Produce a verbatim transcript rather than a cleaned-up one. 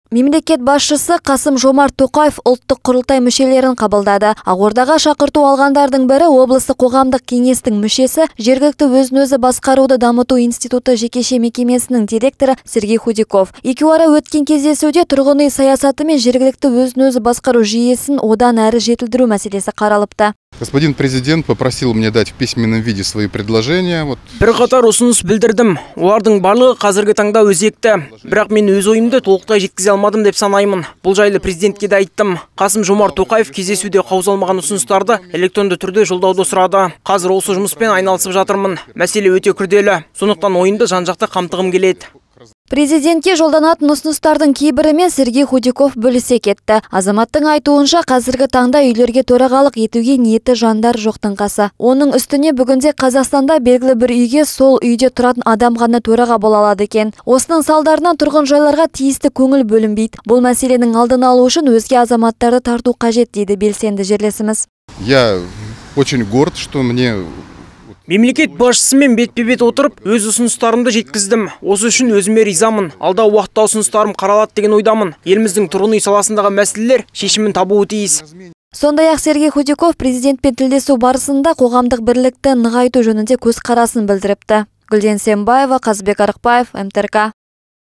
Мемлекет басшысы Қасым-Жомарт Тоқаев ұлттық құрылтай мүшелерін қабылдады. Ақордаға шақырту алғандардың бірі облыстық қоғамдық кеңестің мүшесі, жергілікті өзін-өзі басқаруды дамыту институты жекеше мекемесінің директоры Сергей Худяков. Екеуара өткен кездесуде тұрғын үй саясаты мен жергілікті өзін-өзі басқару жүйесін одан әрі жетілдіру мәселесі қаралыпты. Господин президент попросил мне дать в письменном виде свои предложения. Вот. Bir қатар ұсыныс білдірдім. Олардың барлығы қазіргі таңда өзекті. Бірақ мен өз ойымды толықтай жеткізе алмадым деп санаймын. Бұл жайлы президентке де айттым. Қасым-Жомарт Тоқаев кездесуде қаузалмаған ұсыныстарды электронды түрде жолдауды сұрады. Қазір осы жұмыспен айналысып жатырмын. Мәселе өте күрделі. Сондықтан ойымды жан-жақты қамтығым келеді. Президентке жолданатын ұсыныстардың кейбірімен Сергей Худяков бөлісе кетті. Азаматтың айтуынша қазіргі таңда үйлерге төрағалық етуге ниеті жандар жоқтың қасы. Оның үстіне бүгінде Қазақстанда белгілі бір үйге сол үйде тұратын адам ғана төраға бола алады екен. Осының салдарынан тұрғын жайларға тиісті көңіл бөлінбейді. Бұл мәселенің алдын алу үшін өзге азаматтарды тарту қажет дейді белсенді жерлесіміз. Я очень горд, что мне Мемлекет басшысымен бетпе-бет отырып, өз ұсыныстарымды жеткіздім. Осы үшін өзіме ризамын. Алда уақытта ұсыныстарым қаралады деген ойдамын. Еліміздің тұрғын үй саласындағы мәселелер шешімін табуы тиіс. Сондай-ақ Сергей Худяков президентпен тілдесу барысында қоғамдық бірлікті нығайту жөнінде көзқарасын білдіріпті. Гүлден Сембаева, Қазбек Арықбаев, эм тэ эр ка.